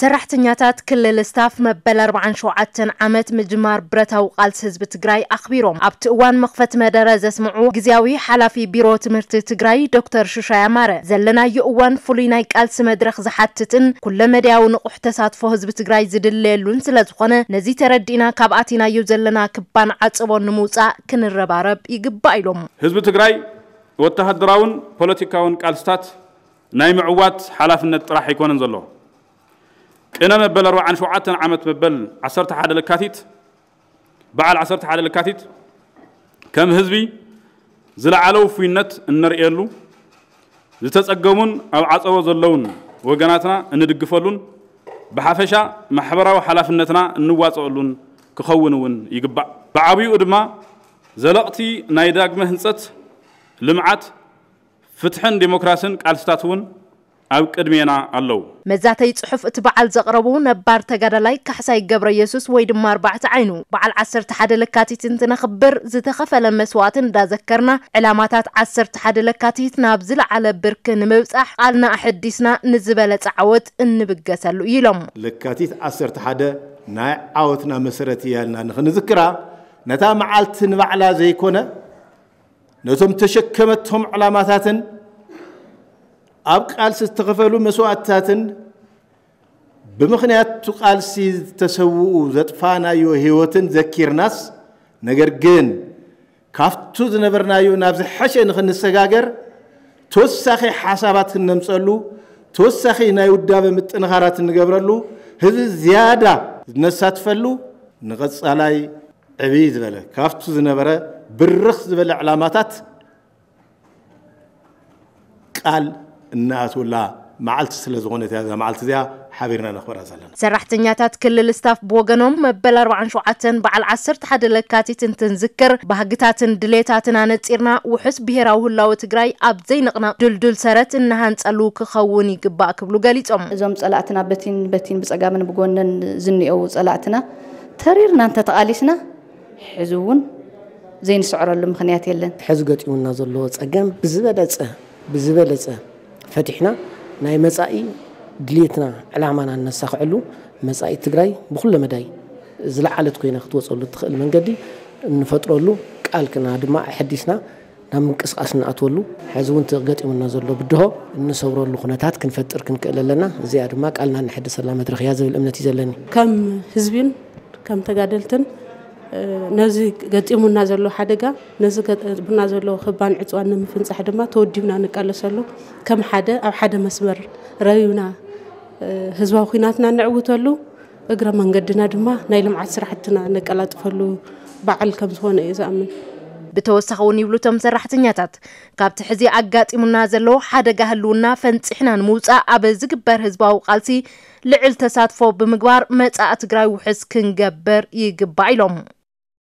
ሰራሕተኛታት ክልል ስታፍ መበል ኣርባዓን ሸውዓተን ዓመት ምጅማር ብረታዊ ቃልሲ ህዝቢ ትግራይ ኣኽቢሮም። ኣብቲ እዋን መኽፈቲ መደረ ዘስምዑ ግዝያዊ ሓላፊ ቢሮ ትምህርቲ ትግራይ ዶክተር ሽሻይ ኣማረ፣ ዘለናዮ እዋን ፍሉይ ናይ ቃልሲ መድረኽ ዝሓትትን ኩለመዳያዊ ንቑሕ ተሳትፎ ህዝቢ ትግራይ ዝድለየሉን ስለ ዝኾነ፣ ነዚ ተረዲእና ካብ ኣቲናዮ ዘለና ክባን ዓጸቦን ንምውጻእ ክንረባረብ ይግባእ ኢሎም። ህዝቢ ትግራይ ወተሃደራውን ፖለቲካውን ቃልስታት ናይ ምዕዋት ሓላፍነት ጥራሕ ኣይኮነን ዘሎ። ቅነ መበል ኣርባዓን ሸውዓተን ዓመት መበል ዓሰርተ ሓደ ለካቲት፣ በዓል ዓሰርተ ሓደ ለካቲት ከም ህዝቢ ዝለዓለ ውፉይነት እነርእየሉ፣ ዝተጸገሙን ኣብ ዓጸቦ ዘለውን ወገናትና እንድግፈሉን ብሓፈሻ ማሕበራዊ ሓላፍነትና እንዋጽኦሉን ክኸውን እውን ይግባእ። ብዓብይኡ ድማ ዘለቕቲ ናይ ዳግመ ህንጸት፣ ልምዓት፣ ፍትሕን ዴሞክራስን ቃልስታት እውን ኣብ ቅድሜና ኣለዉ። መዛተይ ጽሑፍ እቲ በዓል ዘቕረቡ ነባር ተጋዳላይ ካሕሳይ ገብረ የሱስ ወይ ድማ ኣርባዕተ ዓይኑ፣ በዓል ዓሰርተ ሓደ ለካቲት እንትነኽብር ዝተኸፈለ መስዋእቲ እንዳዘከርና፣ ዕላማታት ዓሰርተ ሓደ ለካቲት ናብ ዝለዓለ ብርኪ ንምብጻሕ ቃልና ኣሐዲስና ንዝበለጸ ዓወት እንብገሰሉ ኢሎም። ለካቲት ዓሰርተ ሓደ ናይ ዓወትና መሰረት እያ ኢልና ንኽንዝክራ፣ ነታ መዓልቲ ንባዕላ ዘይኮነ፣ ነቶም ተሸከመቶም ዕላማታትን ኣብ ቃልሲ ዝተኸፈሉ መስዋእትታትን ብምኽንያት እቲ ቃልሲ ዝተሰውኡ ዘጥፋናዮ ህይወትን ዘኪርናስ፣ ነገር ግን ካብቱ ዝነበርናዮ ናብ ዝሐሸ ንኽንሰጋገር ተወሳኺ ሓሳባት ክነምፀሉ፣ ተወሳኺ ናይ ውዳበ ምጥንኻራት እንገብረሉ፣ ህዝቢ ዝያዳ ዝነሳትፈሉ፣ ንቐፃላይ ዕብይ ዝበለ ካብቱ ዝነበረ ብርኽ ዝበለ ዕላማታት ቃል እናኣትወላ መዓልቲ ስለ ዝኾነት እያ እዛ መዓልቲ እዚኣ ሓቢርና ነኽብራ ዘለና። ሰራሕተኛታት ክልል ስታፍ ብወገኖም መበል ኣርባዓን ሸውዓተን በዓል ዓሰርተ ሓደ ለካቲት እንትንዝክር ባህግታትን ድሌታትን ኣነጺርና ውሑስ ብሄራዊ ህላወ ትግራይ ኣብ ዘይንቕነቕ ድልዱል ሰረት እናሃንጸሉ ክኸውን ይግባእ ክብሉ ገሊጾም። እዞም ጸላእትና በቲን በቲን ብጸጋምን ብጎንን ዝኒኤው ጸላእትና ተሪርና እንተተቓሊስና ሕዚ እውን ዘይንስዕረሉ ምኽንያት የለን። ሕዚ ገጢሙና ዘሎ ጸገም ብዝበለጸ ብዝበለጸ ፈቲሕና ናይ መጻኢ ድሌትና ዕላማና እነሳኽዐሉ፣ መጻኢ ትግራይ ብኹለ መዳይ ዝለዓለት ኮይና ክትወጸሉ እትኽእል መንገዲ እንፈጥረሉ፣ ቃልክና ድማ ኣሐዲስና ናብ ምንቅስቃስ እንኣትወሉ፣ ሕዚ እውን እቲ ገጢሙና ዘሎ ብድሆ እንሰብረሉ ኩነታት ክንፈጥር ክንክእል ኣለና። እዚኣ ድማ ቃልና እነሐድሰላ መድረኽ እያ ዝብል እምነት እዩ ዘለኒ። ከም ህዝብን ከም ተጋደልትን ነዚ ገጢሙና ዘሎ ሓደጋ፣ ነዚ ገጢሙና ዘሎ ክባን ዕፅዋን ንምፍንፃሕ ድማ ተወዲብና ንቃለሰሉ። ከም ሓደ ኣብ ሓደ መስመር ረቢብና ህዝባዊ ኩናትና ነዕውተሉ፣ እግረ መንገድና ድማ ናይ ልምዓት ስራሕትና ነቀላጥፈሉ በዓል ከም ዝኾነ እየ ዝኣምን። ብተወሳኺ እውን ይብሉ እቶም ሰራሕተኛታት፣ ካብቲ ሕዚ ኣጋጢሙና ዘሎ ሓደጋ ህልውና ፈንፂሕና ንምውፃእ ኣብ ዝግበር ህዝባዊ ቃልሲ ልዕል ተሳትፎ ብምግባር መጻኢ ትግራይ ውሕስ ክንገብር ይግባእ ኢሎም።